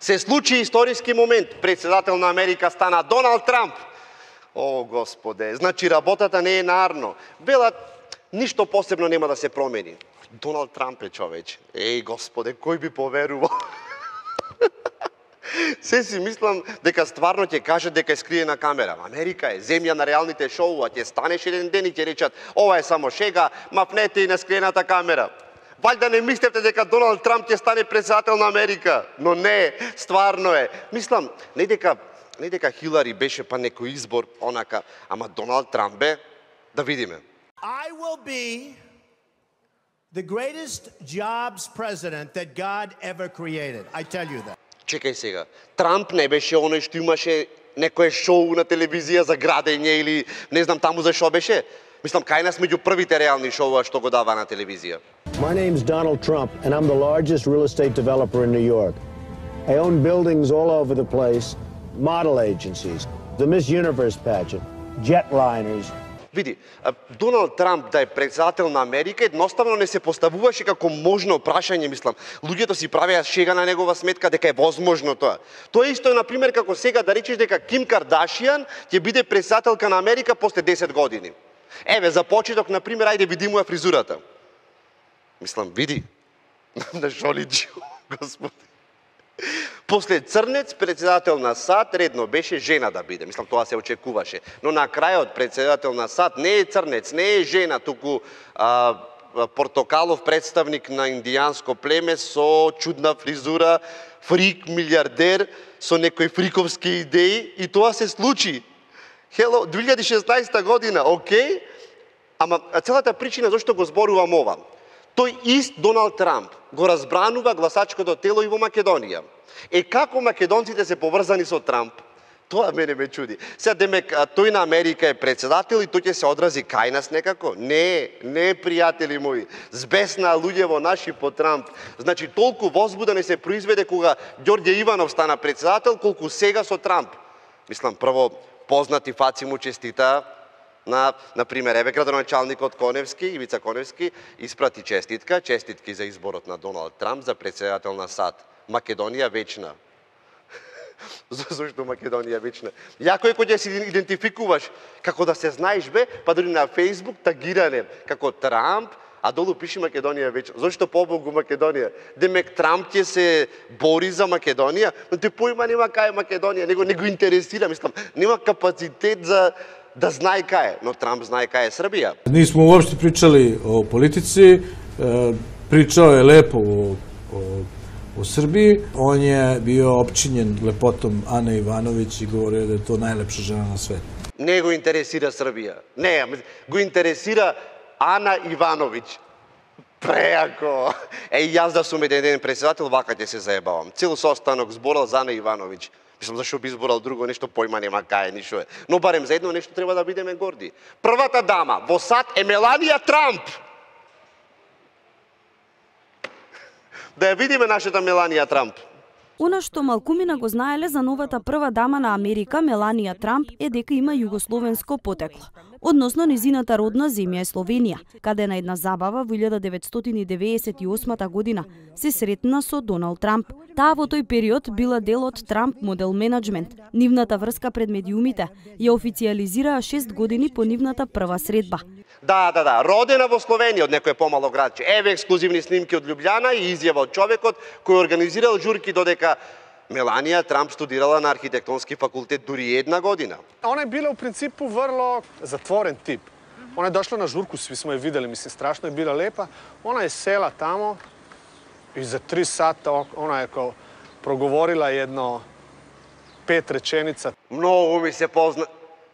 Се случи историски момент. Председател на Америка стана Доналд Трамп. О, Господе, значи работата не е нарно. Велат, ништо посебно нема да се промени. Доналд Трамп е човече. Еј, Господе, кој би поверувал? Се си мислам дека стварно ќе кажат дека е скриена камера. Америка е земја на реалните шоуа, ќе станеш еден ден и ќе речат ова е само шега, мапнете и на скриената камера. Ваljda не мислевте дека Доналд Трамп ќе стане председател на Америка, но не, стварно е. Мислам, не дека Хилари беше па некој избор, онака, ама Доналд Трамп бе, да видиме. I will be the greatest jobs president that God ever created. I tell you that. Чекај сега, Трамп не беше оној што имаше некое шоу на телевизија за градење или не знам таму за што беше? Мислам, кај нас меѓу првите реални шоуа што го дава на телевизија. My name's Donald Trump, and I'm the largest real estate developer in New York. I own buildings all over the place, model agencies, the Miss Universe pageant, jetliners. Види, Доналд Трамп да е председател на Америка едноставно не се поставуваше како можно прашање, мислам. Луѓето си правеа шега на негова сметка дека е возможно тоа. Тоа исто е, например, како сега да речеш дека Ким Кардашијан ќе биде председателка на Америка после 10 години. Еве, за почеток, например, ајде види му ја фризурата. Мислам, види, на шо личи, Господи. После Црнец, председател на САД, редно беше жена да биде. Мислам, тоа се очекуваше. Но на крајот председател на САД не е Црнец, не е жена, туку портокалов представник на индијанско племе со чудна фризура, фрик, милиардер, со некои фриковски идеи, и тоа се случи. Хело, 2016 година, окей, ама целата причина зашто го зборувам ова. Тој ист Доналд Трамп го разбранува гласачкото тело и во Македонија. Како македонците се поврзани со Трамп? Тоа мене ме чуди. Сега, демек, тој на Америка е председател и тој ќе се одрази кај нас некако? Не, пријатели мои. Збесна луѓево наши по Трамп. Значи, толку возбуда не се произведе кога Ѓорѓе Иванов стана председател, колку сега со Трамп. Мислам, прво, познати фаци му честита например, еве градоначалникот Коневски, Ивица Коневски, испрати честитки за изборот на Доналд Трамп за председател на САД. Македонија вечна. Зошто Македонија вечна? Јако е кога ќе се идентификуваш, како да се знаеш бе, па дори на Фејсбук тагиране, како Трамп, а долу пише Македонија вечна. Зошто побогу Македонија? Демек Трамп ќе се бори за Македонија, но те поима нема кај Македонија, него не го интересира, мислам, нема капацитет за да знае кај е, но Трамп знае кај е Србија. Нисмо уопште причали о политици, причао е лепо o Srbiji. On je bio opčinjen lepotom Ane Ivanović i govorio da je to najlepša žena na svetu. Не го интересира Србија. Не, го интересира Ана Ивановиќ. Преако. Јас да сум еден ден председател, вака ќе се заебавам. Цел состанок зборал за Ана Ивановиќ. Мислам, зашо би изборал друго нешто, појма нема кај, ништо е. Но барем за едно нешто треба да бидеме горди. Првата дама во САД е Меланија Трамп. Да ја видиме нашата Меланија Трамп. Она што малкумина го знаеле за новата прва дама на Америка, Меланија Трамп, е дека има југословенско потекло. Односно низината родна земја е Словенија, каде на една забава во 1998 година се сретна со Доналд Трамп. Таа во тој период била дел од Трамп модел менеджмент. Нивната врска пред медиумите ја официализираа 6 години по нивната прва средба. Да, родена во Словенија од некој помало градче. Еве ексклузивни снимки од Лјубљана и изјава од човекот кој организирал журки додека Меланија Трамп студирала на архитектонски факултет дури една година. Она е била у принципу vrlo zatvoren tip. Ona je došla na žurku, svi smo je videli, mislim, strašno je bila lepa. Ona je sela tamo i za 3 sata ona je kao progovorila jedno 5 rečenica.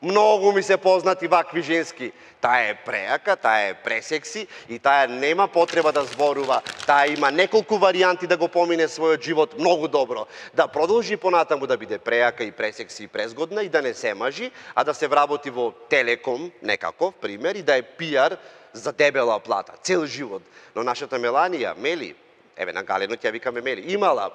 Многу ми се познати вакви женски. Таа е преака, таа е пресекси и таа нема потреба да зборува. Таа има неколку варијанти да го помине својот живот многу добро. Да продолжи понатаму да биде преака и пресекси и презгодна и да не се мажи, а да се вработи во Телеком, некаков пример, и да е пиар за дебела плата, цел живот. Но нашата Меланија, Мели, еве на Галено ќе викаме Мели, имала,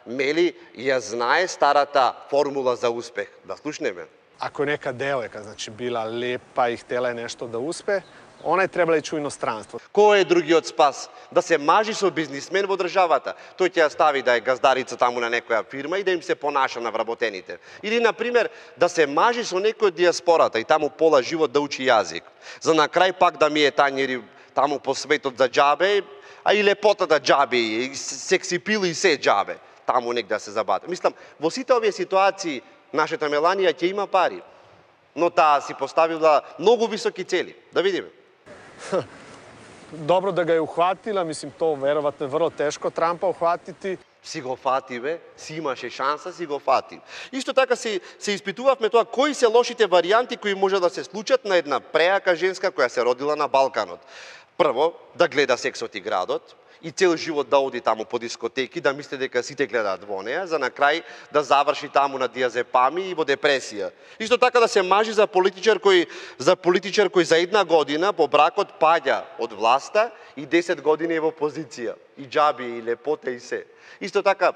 Мели ја знае старата формула за успех. Да слушнеме. Ako je neka devojka, znači, bila lepa i htjela je nešto da uspe, Она е требала да иде у иностранство. Кој е другиот спас? Да се мажи со бизнисмен во државата. Тој ќе ја стави да е газдарица таму на некоја фирма и да им се понаша на вработените. Или, например, да се мажи со некој од диаспората и таму пола живот да учи јазик. За на крај пак да ми е тањери таму по светот за џабе, а и лепотата џабе, и секси пил и се џабе. Таму нек да се забата. Мислам, во сите овие ситуации нашата Меланија ќе има пари, но таа си поставила многу високи цели. Да видиме. Добро да га ја ухватила, мислим, то веројатно е врло тешко Трампа ухватити. Си го фати, бе, си имаше шанса, си го фати. Исто така се испитувавме тоа кои се лошите варијанти кои може да се случат на една преака женска која се родила на Балканот. Прво, да гледа Сексот и градот и цел живот да оди таму по дискотеки, да мисли дека сите гледаат во неа, за на крај да заврши таму на диазепами и во депресија. Исто така да се мажи за политичар кој за една година по бракот паѓа од власта и 10 години е во опозиција. И џаби, и лепота, и се. Исто така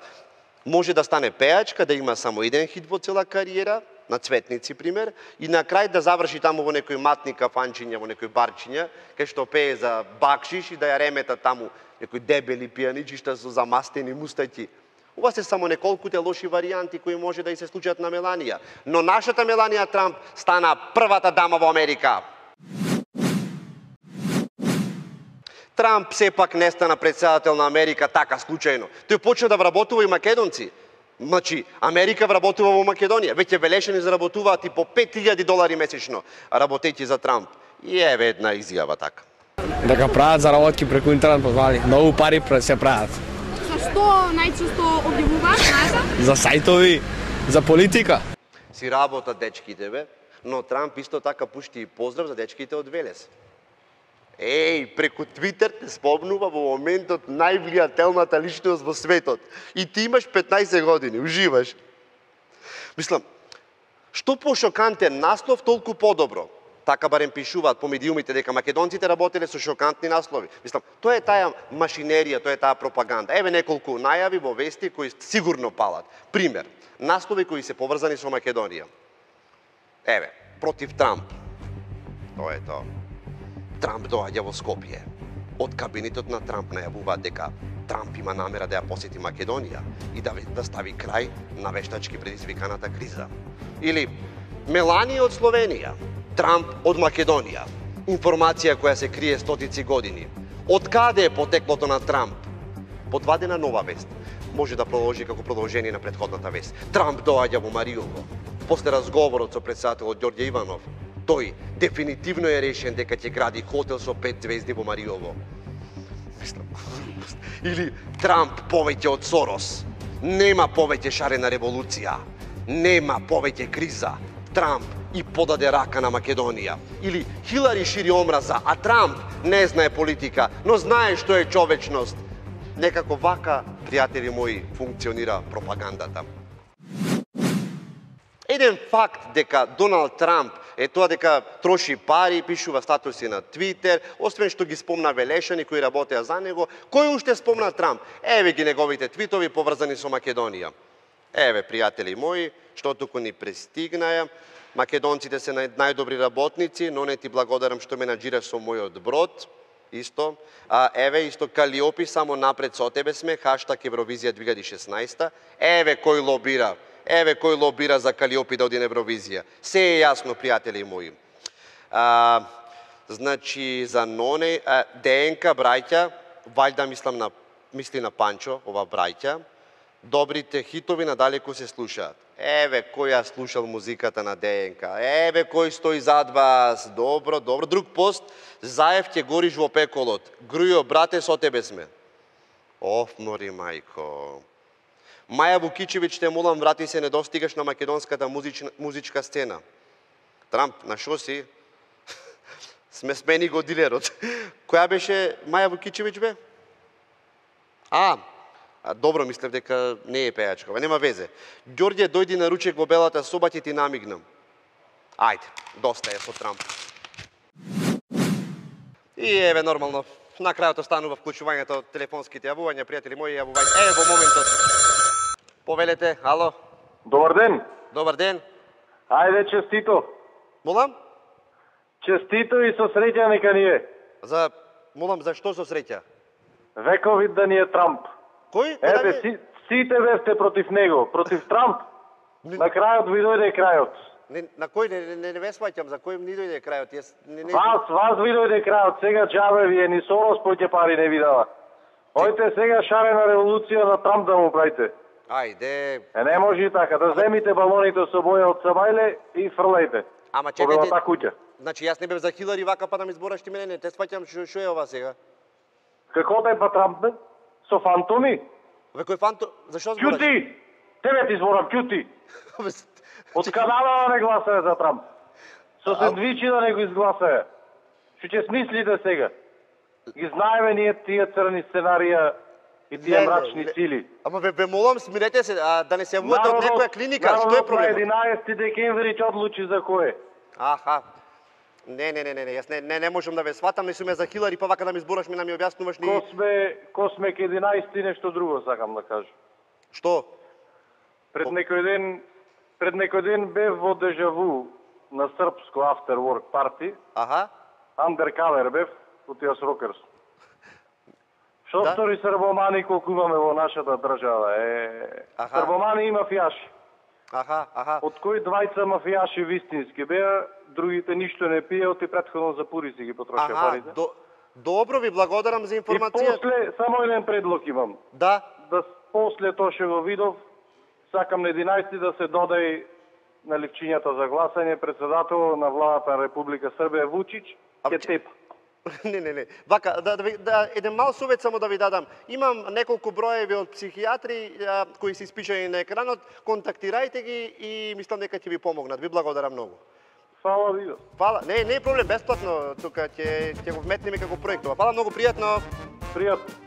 може да стане пеачка, да има само еден хит во цела кариера, на Цветници, пример, и на крај да заврши таму во некој матни кафанчиња, во некој барчиња, кај што пее за бакшиш и да ја ремета таму некои дебели пијаничишта со замастени мустаќи. Ова се само неколкуте лоши варијанти кои може да и се случат на Меланија. Но нашата Меланија Трамп стана првата дама во Америка. Трамп сепак не стана председател на Америка така случајно. Тој почна да вработува и македонци. Значи, Америка вработува во Македонија. Веќе велешени заработуваат и по $5,000 месечно, работејќи за Трамп. И еве една изјава така. Дека прават заработки преку интернет позвали. Многу пари се прават. За што најчесто објавуваат, знаете? За сајтови, за политика. Си работат дечките, бе, но Трамп исто така пушти и поздрав за дечките од Велес. Преку Твитер те спомнува во моментот највлијателната личност во светот. И ти имаш 15 години, уживаш. Мислам, што по-шокантен наслов, толку подобро. Така барем пишуваат по медиумите дека македонците работеле со шокантни наслови. Мислам, тоа е таа машинерија, тоа е таа пропаганда. Еве неколку најави во вести кои сигурно палат. Пример, наслови кои се поврзани со Македонија. Еве, против Трамп. Тоа е тоа. Трамп доаѓа во Скопје. Од кабинетот на Трамп најавуваат дека Трамп има намера да ја посети Македонија и да стави крај на вештачки предизвиканата криза. Или Меланија од Словенија, Трамп од Македонија. Информација која се крие стотици години. Од каде е потеклото на Трамп? Подвадена нова вест. Може да продолжи како продолжение на претходната вест. Трамп доаѓа во Мариово. После разговорот со претседателот Ѓорѓе Иванов, тој дефинитивно е решен дека ќе гради хотел со 5 звезди во Мариово. Или Трамп повеќе од Сорос. Нема повеќе шарена револуција. Нема повеќе криза. Трамп и подаде рака на Македонија. Или Хилари шири омраза, а Трамп не знае политика, но знае што е човечност. Некако вака, пријатели мои, функционира пропагандата. Еден факт дека Доналд Трамп е тоа дека троши пари, пишува статуси на Твитер, освен што ги спомна велешани кои работеа за него, кој уште спомна Трамп? Еве ги неговите твитови поврзани со Македонија. Еве, пријатели мои, што туку ни пристигнаја, македонците се најдобри работници, но не ти благодарам што менаџираш со мојот брод, исто. Еве, исто Калиопи, само напред со тебе сме, хаштаг Евровизија 2016. Еве кој лобира. Еве кој лобира за Калиопи да оди на Евровизија. Се е јасно, пријатели мои. Значи, за Ноне, ДНК, браќа, вајда мисли на Панчо, ова браќа, добрите хитови надалеку се слушаат. Еве кој ја слушал музиката на ДНК. Еве кој стои зад вас. Добро, добро. Друг пост. Заев ќе гориш во пеколот. Грујо, брате, со тебе сме. Мори мајко. Маја Вукичевиќ, те молам, врати се, не достигаш на македонската музичка сцена. Трамп, на шо си? Сме смени го дилерот. Која беше Маја Вукичевиќ, бе? Добро, мислев дека не е пејачка, нема везе. Ѓорѓе, дојди на ручек во белата соба, ќе ти намигнам. Ајде, доста е со Трамп. И еве, нормално, на крајот останува вклучувањето од телефонските јавувања, пријатели мои, јавувања. Еве во моментот. Повелете, ало. Добар ден. Добар ден. Ајде, честито. Молам? Честито и со среќа нека ни е. Молам, за што со среќа? Вековит да ни е Трамп. Кој? Ете, сите сте против него, против Трамп. На крајот ви дојде крајот. На кој не ве сваќам, за кој ни дојде крајот? Вас ви дојде крајот, сега џабе ви е, ни Сорос поќе пари не ви дава. Ојте сега шарена револуција на Трамп да му правите. Ајде. Не може и така, да земите балоните со боја од Сабајле и фрлајте. Ама чекајте. Куќа. Значи јас не бев за Хилари вака па да ми збораш ти мене, не те сваќам што е ова сега. Како да е па Трамп бе? Со фантоми? Ве кој фантом? Зашо збораш? Ќути! Тебе ти зборам, ќути! Од Канада да не гласае за Трамп. Со сендвичи да не го изгласае. Што ќе смислите сега? Ги знаеме ние тие црни сценарија и тие мрачни сили. Ама ве молам, смирете се, да не се јавувате од некоја клиника, што е проблемот? На 11 декември ќе одлучи за кој. Аха. Не, јас не можам да ве сватам, не сум ја за Хилари, па вака да ми збораш, ми да ми објаснуваш ни... Косме ке 11 нешто друго сакам да кажам. Што? Пред некој ден бев во Дежаву на српско after work party. Аха. Undercover бев, од Јас Рокерс. Што стори србомани колку имаме во нашата држава? Србомани и мафијаши. Аха. Од кои двајца мафијаши вистински беа, другите ништо не пиеот и претходно за пури си ги потрошија парите. Добро ви благодарам за информација. И после, само еден предлог имам. Да после тоа што го видов, сакам на 11 да се додај на ливчињата за гласање председател на владата на Република Србија Вучич, ке тепа. Не. Вака, еден мал совет само да ви дадам. Имам неколку броеви од психијатри кои се испишани на екранот. Контактирајте ги и мислам дека ќе ви помогнат. Ви благодарам многу. Фала ви. Фала. Не е проблем, бесплатно. Тука ќе го вметнеме како проект. Фала многу, пријатно. Пријатно.